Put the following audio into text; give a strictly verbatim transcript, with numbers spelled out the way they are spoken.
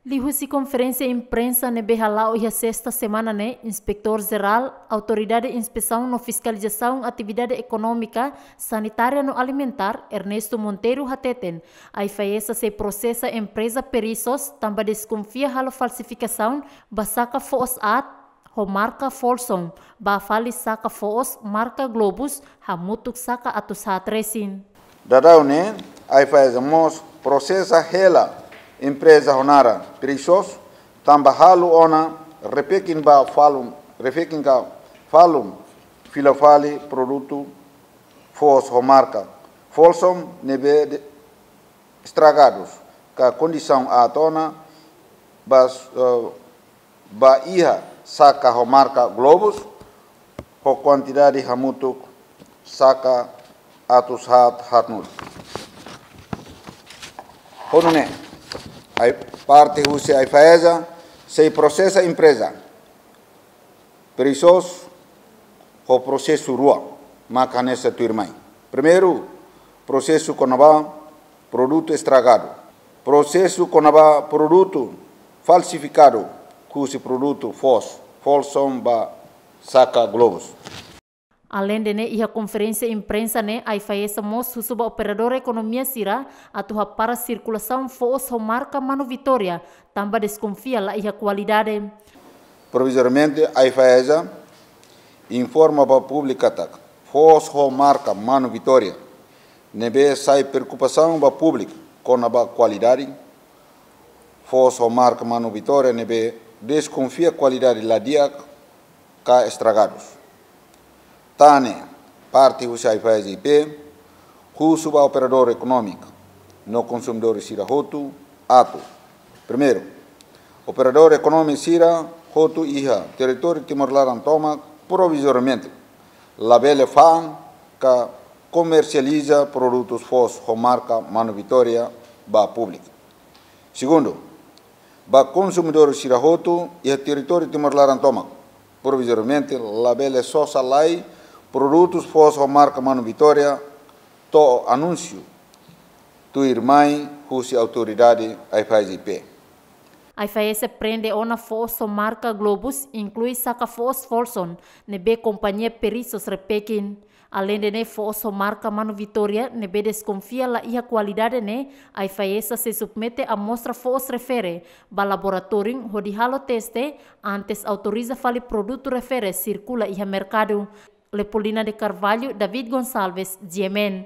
Liuhusi konferénsia imprensa ne'ebé hala'o iha sesta semana ne'e, Inspetór Jerál Autoridade Inspesaun no Fiskalizasaun Atividade Ekonómika, Sanitária no Alimentár, Ernesto Monteiro hateten, AIFAESA sei prosesa empreza Perissos tanba deskonfia halo falsifikasaun ba saka foos aat ho marka Folsom, ba fali saka foos marka Globus hamutuk saka atus haat resin. Daudaun ne'e, AIFAESA mós prosesa hela empreza ho naran Perissos tanba halo ona repekin ba falun, repekin ka falun fila fali produtu foos ho marka Folsom ne'ebé de-, estragadus ka kondisaun aat ona ba, eh, ba iha saka ho marka Globus ho kuantidade hamutuk saka atus haat haatnulu. Ho nune'e, ai-, parte husi AIFAESA sei prosesa empreza Perissos ho prosesu rua maka hanesan tuirmai. Primeiru, prosesu kona-ba produtu estragadu. Prosesu kona-ba produtu falsifikadu, husi produtu foos Folsom ba saka Globus. Aleinde ne'e, iha konferénsia imprensa ne'e, AIFAESA mós husu ba operadór ekonomia sira atu hapara sirkulasaun foos ho marka Manu Vitória, tanba deskonfia la iha kualidade. Provizoriamente, AIFAESA informa ba públiku katak foos ho marka Manu Vitória ne'ebé sai preokupasaun ba públiku kona-ba kualidade, foos ho marka Manu Vitória ne'ebé deskonfia kualidade la di'ak ka estragadus. Tan ne'e, parte husi AIFAESA I P husu ba operadór ekonómiku no konsumidór sira hotu atu: primeiru, operadór ekonómiku sira hotu iha territóriu Timor laran tomak provizoriamente labele fa'an ka komersializa produtus foos ho marka Manu Vitória ba públiku. Segundu, ba konsumidór sira hotu iha territóriu Timor laran tomak provizoriamente labele sosa lai produtus foos ho marka Manu Vitória to'o anúnsiu tuirmai husi autoridade AIFAESA I P. AIFAESA prende ona foos ho marka Globus, inklui saka foos Folsom ne'ebé kompañia Perissos repekin. Aleinde ne'e, foos ho marka Manu Vitória ne'ebé deskonfia la iha kualidade ne'e, AIFAESA sei submete amostra foos refere ba laboratóriu hodi halo teste antes autoriza fali produtu refere sirkula iha merkadu. Leopoldina de Carvalho, David Gonçalves, G M N.